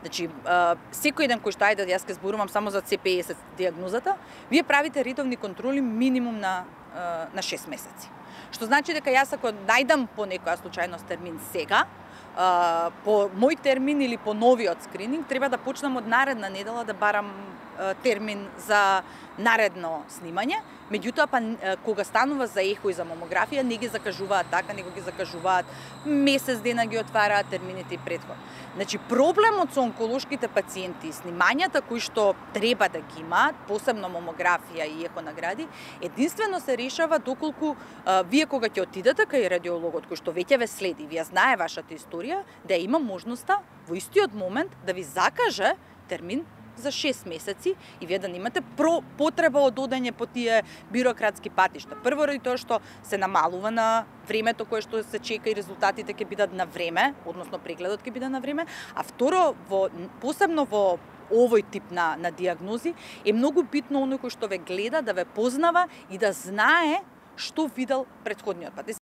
Значи, секој ден кој што ајде јас ќе зборувам само за CPS диагнозата, вие правите редовни контроли минимум на 6 месеци. Што значи дека јас ако најдам по некоја случајност термин сега, по мој термин или по новиот скрининг, треба да почнам од наредна недела да барам термин за наредно снимање. Меѓутоа, кога станува за ехо и за мамографија, не ги закажуваат така, него ги закажуваат месец дена ги отвараат термините и претходно. Значи, проблемот со онколошките пациенти, снимањата кои што треба да ги имаат, посебно мамографија и ехонагради, единствено се решава доколку вие кога ќе отидете кај радиологот, кој што веќе ве следи, вие знае вашата историја, да има можноста во истиот момент да ви закаже термин за 6 месеци и вие да немате потреба од одење по тие бирократски патишта. Прво ради тоа што се намалува на времето кое што се чека и резултатите ќе бидат на време, односно прегледот ќе биде на време, а второ, посебно во овој тип на диагнози е многу битно оној кој што ве гледа да ве познава и да знае што видел претходниот пат.